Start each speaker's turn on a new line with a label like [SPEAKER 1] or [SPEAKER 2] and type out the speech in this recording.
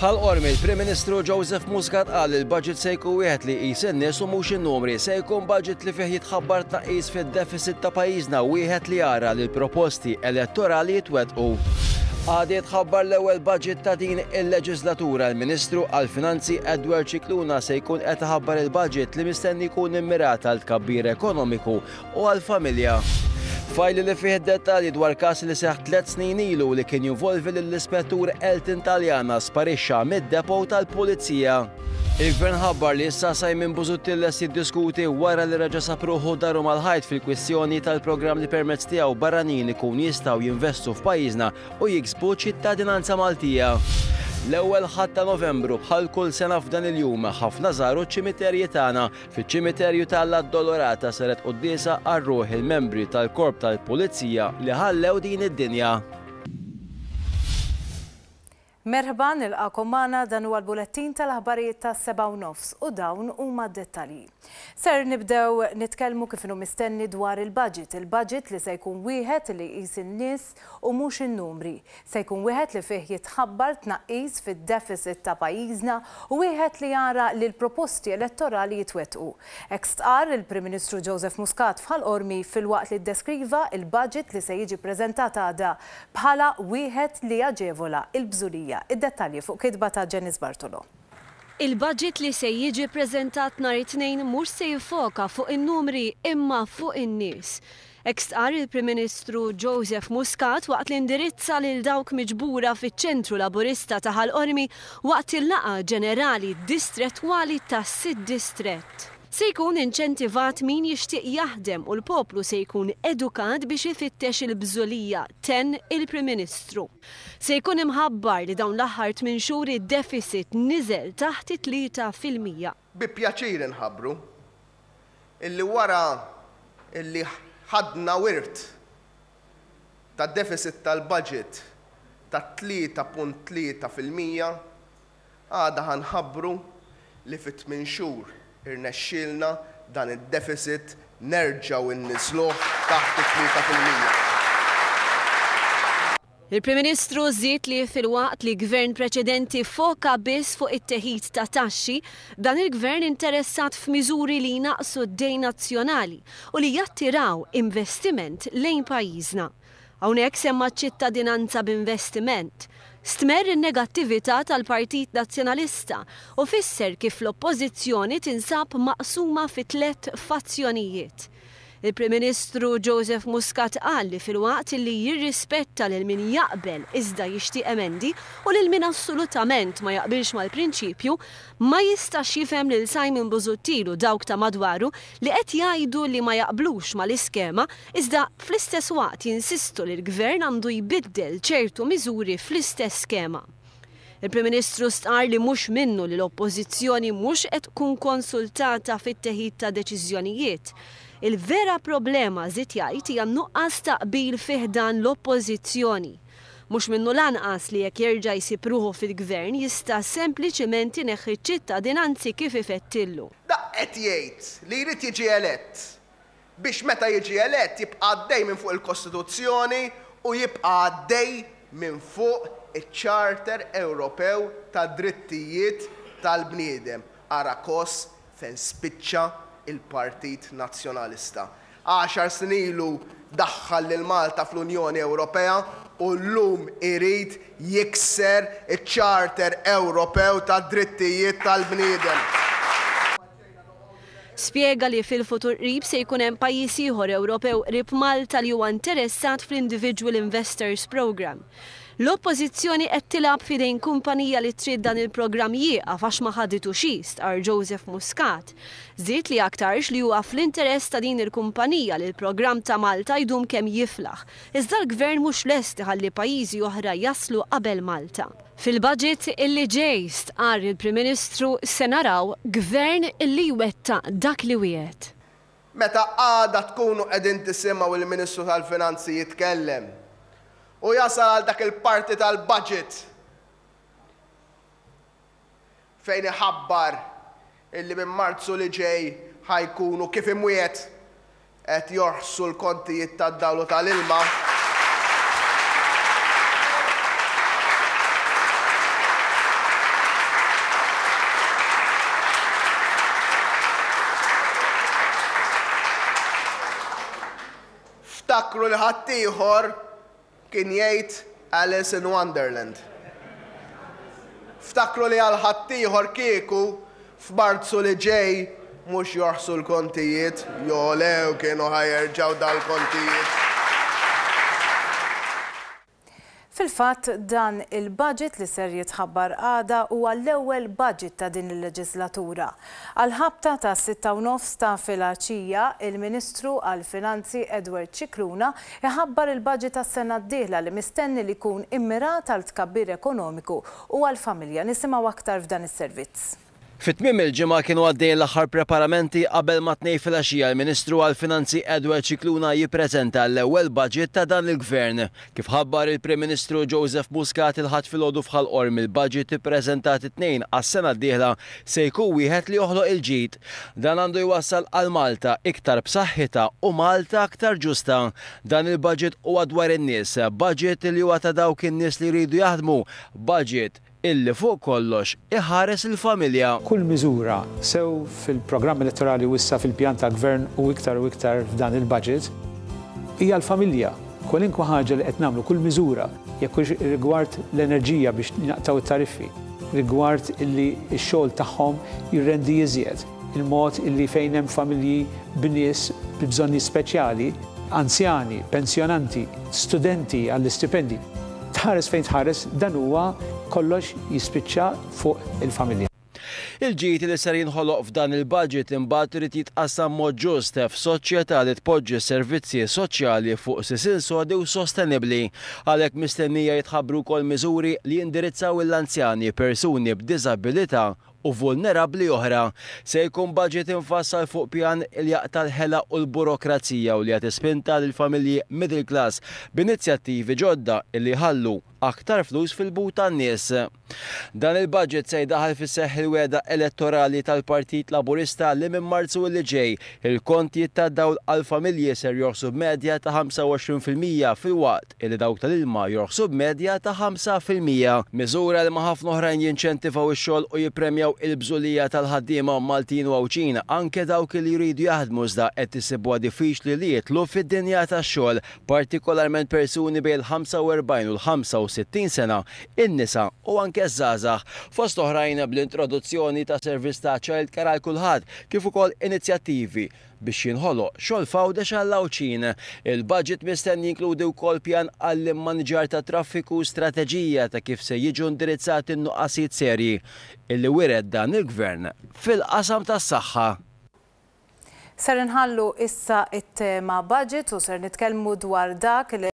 [SPEAKER 1] F'Ħal Qormi, il-Prim Ministru Joseph Muscat qal li l-budget se jkun wieħed li jqis in-nies u mhux in-numri. Se jkun budget li fih jitħabbar tnaqqis fid-deficit ta' pajjiżna, wieħed li jara li l-proposti elettorali jitwettqu. Għada jitħabbar l-ewwel budget ta' din il-leġislatura. Il-Ministru għall-Finanzi Edward Scicluna se jkun qed iħabbar il-budget li mistenni jkun immirat għal tkabbir ekonomiku u għall-familja. Fajl li fih id-dettalji dwar każ li seħħ tliet snin ilu li kien jinvolvi lill-Ispettur Elton Taliana sparixxa mid-depot tal-Pulizija. Il-Gvern ħabbar li issa Simon Busuttil lest jiddiskuti wara li reġa' sab ruħu daru mal-ħajt fil-kwistjoni tal-programm li permezz tiegħu barranin ikun jistgħu jinvestu f'pajjiżna u jiksbu ċittadinanza Maltija. L-ewwel Ħadd ta' Novembru bħal kull sena f'dan il-jum ħafna żaru ċ-ċimiterji tagħna Fiċ-ċimiterju ta' l-Addolorata saret quddiesa għal ruħ il-membri tal-Korp tal-Pulizija li ħallew din id-dinja.
[SPEAKER 2] Merħba, nilqagħkom magħna, dan huwa l-bulettin tal-aħbarijiet tas-sebgħa u nofs u dawn huma d-dettalji. Ser nibdew nitkellmu kif inhu mistenni dwar il-budget, il-budget li se jkun wieħed li jqis in-nies u mhux in-numri. Se jkun wieħed li fih jitħabbar tnaqqis fid-deficit ta' pajjiżna u wieħed li jara li l-proposti elettorali jitwettqu. Hekk stqarr il-Prim Ministru Joseph Muscat f'Ħal Qormi filwaqt li ddeskriva l-budget li se jiġi ppreżentat għada bħala wieħed li jaġevola l-bżulija. Id-dettalji fuq kitba ta' Janice Bartolo.
[SPEAKER 3] Il-budget li se jiġi ppreżentat nhar it-Tnejn mhux se jiffoka fuq in-numri imma fuq in-nies. Hekk stqarr il-Prim Ministru Joseph Muscat waqt li indirizza lil dawk miġbura fiċ-Ċentru Laburista ta' Ħal Qormi waqt il-laqgħa ġenerali distrettwali tas-sitt distrett. Se jkun inċentivat min jixtieq jaħdem u l-poplu se jkun edukat biex ifittex il-bżulija, tenn il-Prim Ministru. Se jkun imħabbar li dawn l-aħħar tmien xhur id-deficit niżel taħt it-3%.
[SPEAKER 4] Bi pjaċir inħabbru illi wara illi ħadna wirt ta' deficit tal-budget ta' 3.3%, għada ħa nħabbru li fi tmien xhur irnexxielna dan id-deficit nerġgħu nniżżluh taħt it-3%.
[SPEAKER 3] Il-Prim Ministru żied li filwaqt li Gvern preċedenti ffoka biss fuq it-teħid ta' taxxi, dan il-Gvern interessat f'miżuri li jnaqqsu d-dejn nazzjonali u li jattiraw investiment lejn pajjiżna. Hawnhekk semma ċ-ċittadinanza b'investiment. Stmerr in-negattività tal-Partit Nazzjonalista u fisser kif l-Oppożizzjoni tinsab maqsuma fi tlett fazzjonijiet. Il-Prim Ministru Joseph Muscat qal li filwaqt li jirrispetta lil min jaqbel iżda jixtieq emendi u lil min assolutament ma jaqbilx mal-prinċipju, ma jistax jifhem lil Simon Busuttil u dawk ta' madwaru li qed jgħidu li ma jaqblux mal-iskema iżda fl-istess waqt jinsistu li l-Gvern għandu jbiddel ċertu miżuri fl-istess skema. Il-Prim Ministru stqarr li mhux minnu li l-Oppożizzjoni mhux qed tkun konsultata fit-teħid ta' deċiżjonijiet. Il-vera problema, żied jgħid, hija n-nuqqas ta' qbil fi ħdan l-Oppożizzjoni. Mhux minnu lanqas li jekk jerġa' jsib ruħu fil-Gvern jista' sempliċiment ineħħi ċ-ċittadinanzi kif ifettillu.
[SPEAKER 4] Dak qed jgħid li jrid jiġi elett biex meta jiġi elett jibqa' għaddej minn fuq il-Kostituzzjoni u jibqa' għaddej minn fuq iċ-Charter Ewropew tad-Drittijiet tal-Bniedem. Ara kos fejn spiċċa l-Partit Nazzjonalista. Għaxar snin ilu daħħal lil Malta fl-Unjoni Ewropea u llum irid jikser iċ-Charter Ewropew tad-Drittijiet tal-Bniedem.
[SPEAKER 3] Spjega li fil-futur qrib se jkun hemm pajjiż ieħor Ewropew qrib Malta li huwa interessat fl-Individual Investors Programme. L-Oppożizzjoni qed tilgħab f'idejn kumpanija li trid dan il-programm jieqaf għax ma ħaditux hi, stqarr Joseph Muscat. Żied li aktarx li huwa fl-interess ta' din il-kumpanija li l-programm ta' Malta jdum kemm jiflaħ, iżda l-Gvern mhux lest iħalli pajjiżi oħra jaslu qabel Malta. Fil-budget illi ġej, stqarr il-Prim Ministru, se naraw Gvern illi jwettaq dak li wiegħed.
[SPEAKER 4] Meta għada tkunu qegħdin tisimgħu il-Ministru tal-Finanzi jitkellem u jasal għal dak il-parti tal-budget fejn iħabbar illi minn Marzu li ġej ħa jkunu kif imwiegħed qed jorħsu l-kontijiet tad-dawl u tal-ilma. Ftakru li ħaddieħor kien jgħid Alice in Wonderland. Ftakru li għal ħaddieħor kieku f'Marzu li ġej mhux jorħsu l-kontijiet, jogħlew kienu ħa jerġgħu dal-kontijiet.
[SPEAKER 2] Fil-fatt, dan il-budget li ser jitħabbar għada huwa l-ewwel budget ta' din il-leġislatura. Għall-ħabta tas-6:30 ta' filgħaxija, il-Ministru għall-Finanzi Edward Scicluna iħabbar il-budget għas-sena d-dieħla li mistenni li jkun immirat għal tkabbir ekonomiku u għall-familja. Nisimgħu aktar f'dan is-servizz.
[SPEAKER 1] Fi tmiem il-ġimgħa kienu għaddejjin l-aħħar preparamenti qabel ma t-Tnejn filgħaxija l-Ministru għall-Finanzi Edward Scicluna jippreżenta l-ewwel budget ta' dan il-Gvern. Kif ħabbar il-Prim Ministru Joseph Muscat il-Ħadd filgħodu f'Ħal Qormi l-budget ippreżentat it-Tnejn għas-sena d-dieħla se jkun wieħed li joħloq il-ġid. Dan għandu jwassal għal Malta iktar b'saħħitha u Malta aktar ġusta. Dan il-budget huwa dwar in-nies, budget li huwa ta' dawk in-nies li jridu jaħdmu, budget illi fuq kollox iħares il-familja.
[SPEAKER 5] Kull miżura, sew fil-programm elettorali u issa fil-pjan tal-Gvern u iktar u iktar f'dan il-budget, hija l-familja. Kwalinkwa ħaġa li qed nagħmlu, kull miżura, jekk hux rigward l-enerġija biex naqtgħu t-tariffi, rigward illi x-xogħol tagħhom jirrendi iżjed, il-mod illi fejn hemm familji b'nies bi bżonnijiet speċjali, anzjani, pensjonanti, studenti għall-istipendji. Tħares fejn tħares dan huwa kollox jispiċċa fuq il-familja.
[SPEAKER 1] Il-ġid li ser jinħoloq f'dan il-budget imbagħad irid jitqassam mod ġust f'soċjetà li tpoġġi s-servizzi soċjali fuq sisien sodi u sostenibbli. Għalhekk mistennija jitħabbru wkoll miżuri li jindirizzaw l-anzjani, persuni b'diżabilità u vulnerabbli oħra. Se jkun budget imfassal fuq pjan li jaqta' l-ħela u l-burokrazija u li jagħti spinta lill-familji middle class b'inizjattivi ġodda li jħallu aktar flus fil-but tan-nies. Dan il-budget se jdaħħal fis-seħħ il-wegħda elettorali tal-Partit Laburista li minn Marzu li ġej il-kontijiet tad-dawl għall-familji ser jorħsu b'medja ta' 25% filwaqt illi dawk tal-ilma jorħsu b'medja ta' 5%. Miżura li ma' ħafna oħrajn jinċentivaw ix-xogħol u jippremjaw il-bżulija tal-ħaddiema Maltin u Għawdxin, anke dawk li jridu jaħdmu iżda qed isibuha diffiċli li jidħlu fid-dinja tax-xogħol, partikolarment persuni bejn il-45 u l-65 sena, in-nisa u anke ż-żgħażagħ. Fost oħrajn bl-introduzzjoni ta' servizz ta' childcare għal kulħadd, kif ukoll inizjattivi biex jinħoloq xogħol f'Għawdex għall-Għawdxin. Il-budget mistenni jinkludi wkoll pjan għall-immaniġġar tat-traffiku u strateġija ta' kif se jiġu indirizzati n-nuqqasijiet serji illi wiret dan il-Gvern fil-qasam tas-saħħa.
[SPEAKER 2] Ser inħallu issa it-tema budget u ser nitkellmu dwar dak li.